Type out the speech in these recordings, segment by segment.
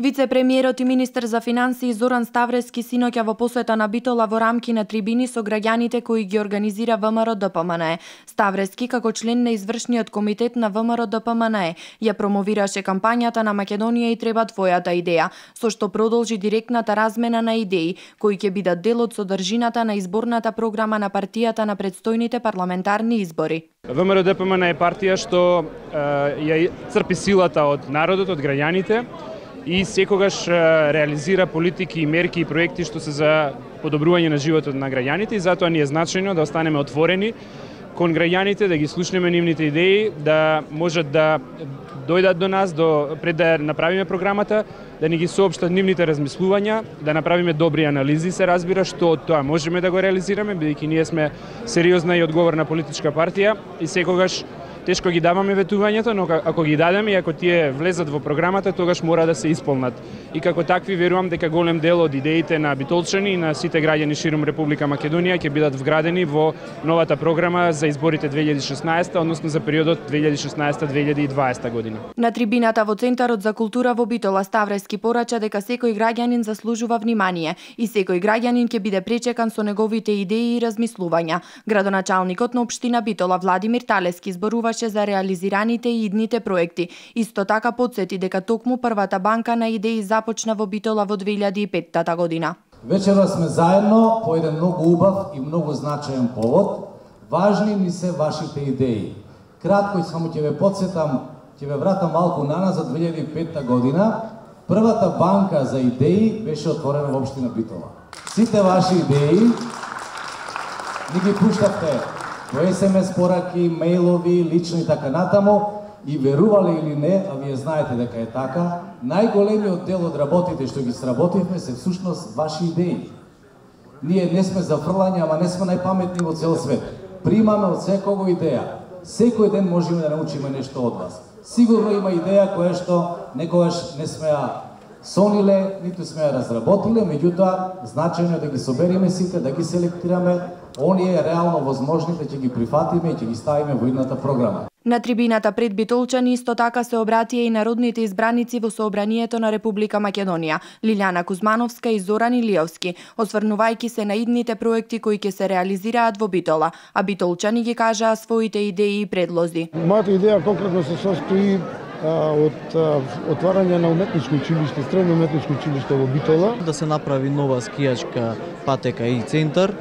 Вице-премиерот и министер за финансии Зоран Ставрески синоќа во посета на Битола во рамки на трибини со граѓаните кои ги организира ВМРО-ДПМНЕ. Ставрески, како член на извршниот комитет на ВМРО-ДПМНЕ, ја промовираше кампањата на Македонија и треба твојата идеја, со што продолжи директната размена на идеи, кои ќе бидат дел од содржината на изборната програма на партијата на предстојните парламентарни избори. ВМРО-ДПМНЕ е партија што ја црпи силата од народот, од граѓаните, и секогаш реализира политики и мерки и проекти што се за подобрување на животот на граѓаните, и затоа ни е значајно да останеме отворени кон граѓаните, да ги слушнеме нивните идеи, да можат да дојдат до нас пред да направиме програмата, да ни ги соопштат нивните размислувања, да направиме добри анализи, се разбира, што од тоа можеме да го реализираме, бидејќи ние сме сериозна и одговорна политичка партија и секогаш тешко ги даваме ветувањето, но ако ги дадеме и ако тие влезат во програмата, тогаш мора да се исполнат. И како такви верувам дека голем дел од идеите на битолчани и на сите граѓани ширум Република Македонија ќе бидат вградени во новата програма за изборите 2016, односно за периодот 2016-2020 година. На трибината во Центарот за култура во Битола Ставрески порача дека секој граѓанин заслужува внимание и секој граѓанин ќе биде пречекан со неговите идеи и размислувања. Градоначалникот на општина Битола Владимир Талески зборува за реализираните и идните проекти. Исто така потсети дека токму првата банка на идеи започна во Битола во 2005 година. Вечера сме заедно по еден многу убав и многу значаен повод. Важни ми се вашите идеи. Кратко само ќе ве потсетам, ќе ве вратам малку наназад 2005 година. Првата банка за идеи беше отворена во општина Битола. Сите ваши идеи ни ги пуштавте по SMS пораки, мејлови, лично и така натаму, и верувале или не, а вие знаете дека е така, најголемиот дел од работите што ги сработивме се всушност ваши идеи. Ние не сме за фрлање, ама не сме најпаметни во цел свет. Примаме од секого идеја. Секој ден можеме да научиме нешто од вас. Сигурно има идеја која што некогаш не сме ја сониле, ниту сме ја разработиле, меѓутоа значајно е да ги собериме сите, да ги селектираме, оние реално возможните ќе ги прифатиме и ќе ги ставиме во едната програма. На трибината пред битолчани исто така се обратија и народните избраници во Собранието на Република Македонија, Лилјана Кузмановска и Зоран Илиевски, осврнувајќи се на идните проекти кои ќе се реализираат во Битола, а битолчани ги кажаа своите идеи и предлози. Мојата идеја конкретно се состои од отварање на уметничко училиште, средно уметничко училиште во Битола. Да се направи нова скијачка патека и центар,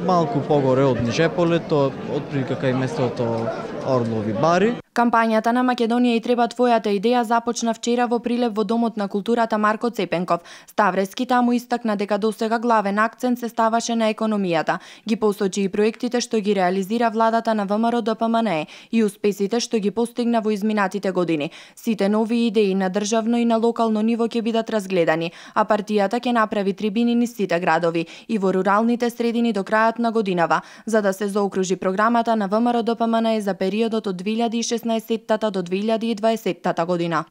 малку погоре од Нижеполето, отприлика кај местото Орлови бари. Кампањата на Македонија и треба твојата идеја започна вчера во прилеп во Домот на културата Марко Цепенков. Ставрески таму истакна дека досега главен акцент се ставаше на економијата. Ги посочи и проектите што ги реализира владата на ВМРО-ДПМНЕ и успесите што ги постигна во изминатите години. Сите нови идеи на државно и на локално ниво ќе бидат разгледани, а партијата ќе направи трибини низ сите градови и во руралните средини до крајот на годинава, за да се заокружи програмата на ВМРО-ДПМНЕ за периодот од 2016 до 2020 година.